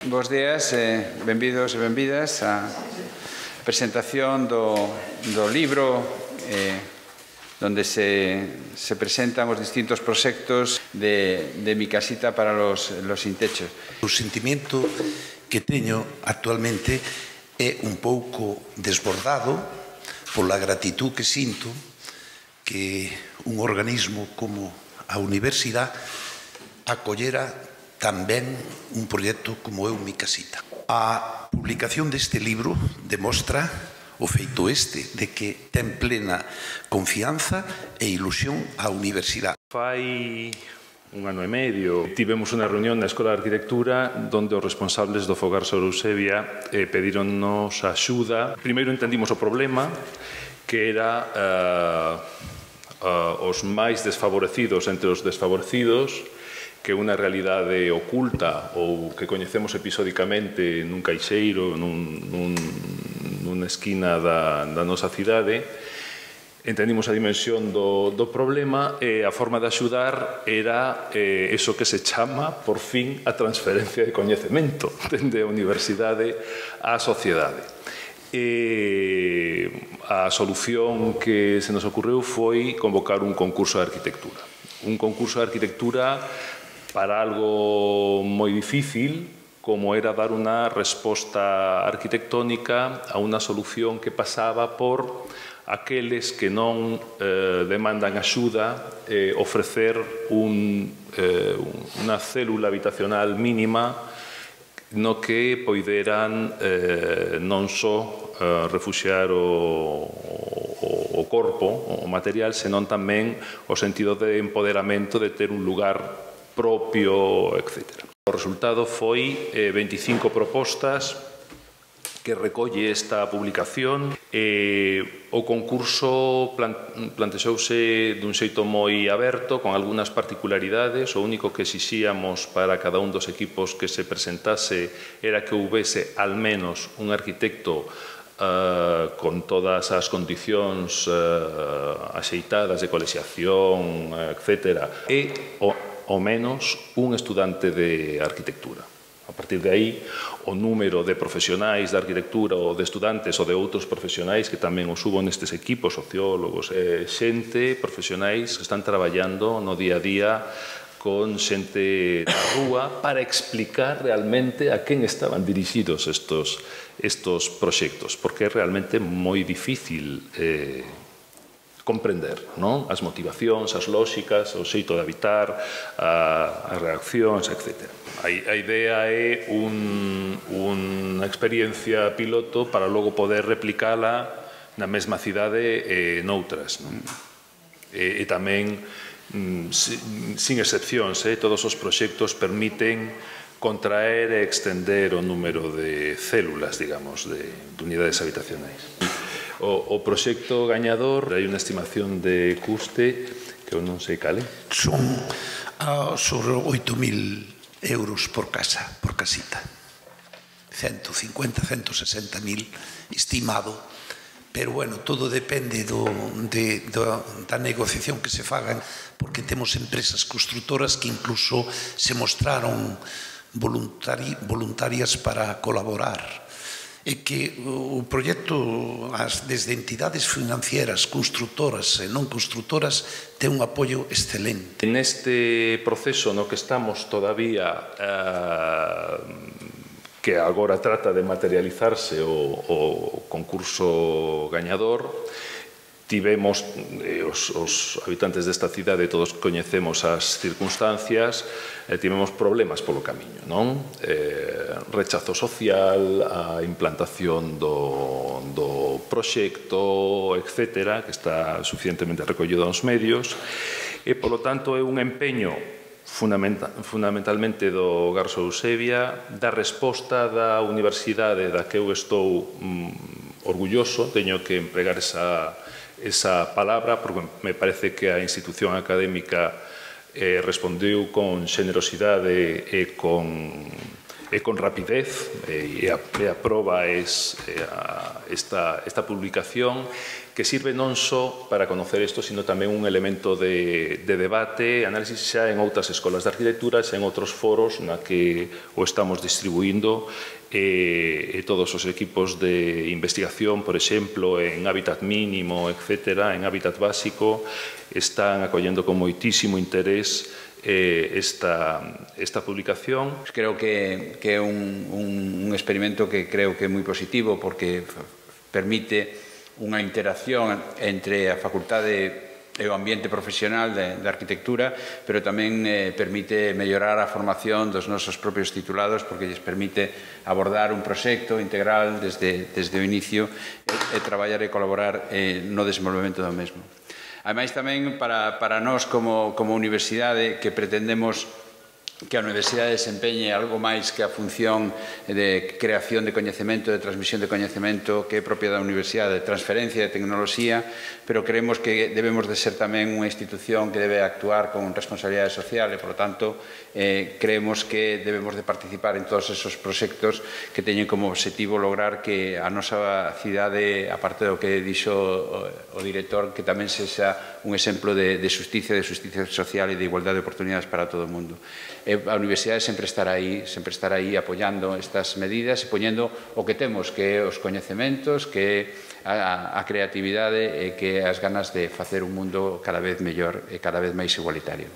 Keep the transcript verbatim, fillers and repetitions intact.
Bos días, eh, benvidos e benvidas á presentación do, do libro eh, donde se, se presentan os distintos proxectos de, de Mi Casita para los, los sin techo. O sentimento que teño actualmente é un pouco desbordado pola gratitud que sinto que un organismo como a Universidade acollera tamén un proxecto como é o Mi Casita. A publicación deste libro demostra o feito este, de que ten plena confianza e ilusión á Universidade. Fai un ano e medio tivemos unha reunión na Escola de Arquitectura donde os responsables do Fogar Sor Eusebia eh, pedironnos axuda. Primeiro entendimos o problema, que era uh, uh, os máis desfavorecidos entre os desfavorecidos, que unha realidade oculta ou que coñecemos episódicamente nun caixeiro, nun, nun, nunha esquina da, da nosa cidade. Entendimos a dimensión do, do problema e a forma de axudar era eh, eso que se chama, por fin, a transferencia de coñecemento dende a universidade á sociedade. E a solución que se nos ocurreu foi convocar un concurso de arquitectura. Un concurso de arquitectura para algo moi difícil, como era dar unha resposta arquitectónica a unha solución que pasaba por aqueles que non eh, demandan axuda, eh, ofrecer un, eh, unha célula habitacional mínima no que poideran eh, non só eh, refuxiar o, o, o corpo, o material, senón tamén o sentido de empoderamento de ter un lugar propio, etcétera. O resultado foi eh, veinticinco propostas que recolle esta publicación. Eh, o concurso plan, plantexouse dun xeito moi aberto, con algunhas particularidades. O único que exixíamos para cada un dos equipos que se presentase era que houvese al menos un arquitecto Uh, con todas as condicións uh, axeitadas de colexiación, etcétera, e o, o menos un estudante de arquitectura. A partir de aí, o número de profesionais de arquitectura ou de estudantes ou de outros profesionais que tamén os subo nestes equipos, sociólogos, eh, xente, profesionais que están traballando no día a día con xente da rúa para explicar realmente a quen estaban dirixidos estos, estos proxectos, porque é realmente moi difícil eh, comprender, non? As motivacións, as lóxicas, o xeito de habitar, a, as reaccións, etcétera. A, a idea é un, unha experiencia piloto para logo poder replicala na mesma cidade e noutras, non? E, e tamén sin excepcións, eh, todos os proxectos permiten contraer e extender o número de células, digamos, de, de unidades habitacionais. O, o proxecto gañador, hai unha estimación de custe que eu non sei cale. Son uh, sobre oito mil euros por casa, por casita. ciento cincuenta, ciento sesenta mil estimado. Pero, bueno, todo depende do, de, do, da negociación que se fagan, porque temos empresas constructoras que incluso se mostraron voluntari, voluntarias para colaborar. E que o proxecto, as, desde entidades financieras, constructoras e non constructoras, ten un apoio excelente. Neste proceso no que estamos todavía... Eh, que agora trata de materializarse o, o concurso gañador, tivemos, eh, os, os habitantes desta cidade todos coñecemos as circunstancias, eh, tivemos problemas polo camiño, non? Eh, rechazo social, a implantación do, do proxecto, etcétera, que está suficientemente recollido aos medios, e, polo tanto, é un empeño fundamentalmente do Garso Eusebia, da resposta da universidade da que eu estou mm, orgulloso, teño que empregar esa, esa palabra, porque me parece que a institución académica eh, respondeu con xenerosidade e con, e con rapidez, e a, e a proba é esta, esta publicación, que sirve non só para conocer isto, sino tamén un elemento de, de debate, análisis xa en outras escolas de arquitectura, xa en outros foros na que o estamos distribuindo, e, e todos os equipos de investigación, por exemplo, en hábitat mínimo, etcétera, en hábitat básico, están acollendo con moitísimo interés eh, esta, esta publicación. Creo que, que é un, un, un experimento que creo que é moi positivo porque permite unha interacción entre a facultade e o ambiente profesional de, de arquitectura, pero tamén eh, permite mellorar a formación dos nosos propios titulados porque lles permite abordar un proxecto integral desde, desde o inicio e, e traballar e colaborar eh, no desenvolvemento do mesmo. Ademais, tamén para, para nós como, como universidade que pretendemos que a universidade desempeñe algo máis que a función de creación de coñecemento, de transmisión de coñecemento que é propia da universidade, de transferencia de tecnoloxía, pero creemos que debemos de ser tamén unha institución que debe actuar con responsabilidade social e, por lo tanto, eh, creemos que debemos de participar en todos esos proxectos que teñen como objetivo lograr que a nosa cidade, aparte do que dixo o, o director, que tamén sexa un exemplo de, de justicia, de justicia social e de igualdade de oportunidades para todo o mundo. A universidade sempre estará aí, sempre estará aí apoiando estas medidas e poñendo o que temos, que é os coñecementos, que é a, a creatividade e que é as ganas de facer un mundo cada vez mellor e cada vez máis igualitario.